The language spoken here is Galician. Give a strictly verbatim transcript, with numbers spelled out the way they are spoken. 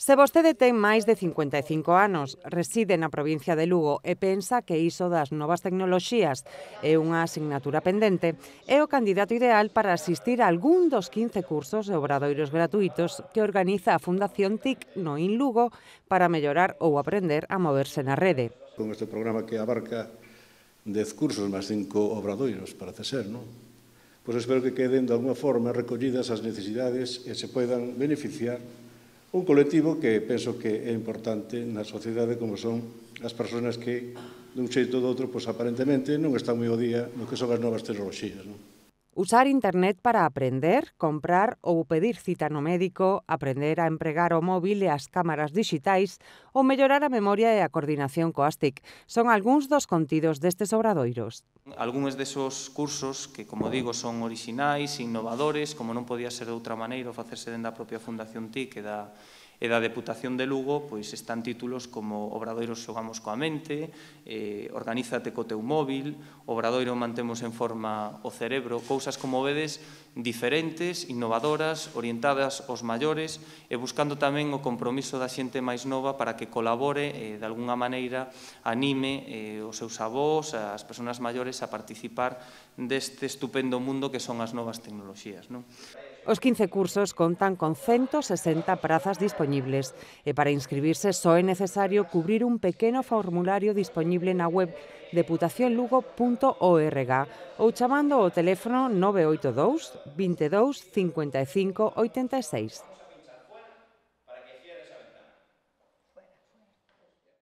Se vostede ten máis de cincuenta e cinco anos, reside na provincia de Lugo e pensa que iso das novas tecnoloxías é unha asignatura pendente, é o candidato ideal para asistir a algún dos quince cursos e obradoiros gratuitos que organiza a Fundación T I C no IN Lugo para mellorar ou aprender a moverse na rede. Con este programa que abarca dez cursos máis cinco obradoiros, parece ser, non? Pois espero que queden de alguma forma recollidas as necesidades e se poidan beneficiar un colectivo que penso que é importante na sociedade como son as persoas que, dun xeito ou doutro, pois aparentemente non están moi ao día no que son as novas tecnoloxías, non? Usar internet para aprender, comprar ou pedir cita no médico, aprender a empregar o móvil e as cámaras dixitais ou mellorar a memoria e a coordinación coas T I C son algúns dos contidos destes obradoiros. Algúns desos cursos que, como digo, son orixinais, innovadores, como non podía ser de outra maneira, o facerse dende a propia Fundación T I C e da e da Deputación de Lugo, pois están títulos como Obradoiros xogamos coa mente, eh, Organízate co teu móvil, Obradoiro mantemos en forma o cerebro, cousas como vedes diferentes, innovadoras, orientadas aos maiores e buscando tamén o compromiso da xente máis nova para que colabore e, de algunha maneira, anime eh, os seus avós, as persoas maiores a participar deste estupendo mundo que son as novas tecnoloxías, non? Os quince cursos contan con ciento sesenta prazas dispoñibles e para inscribirse só é necesario cubrir un pequeno formulario dispoñible na web deputación lugo punto org ou chamando ao teléfono nove oito dous, vinte e dous, cincuenta e cinco, oitenta e seis.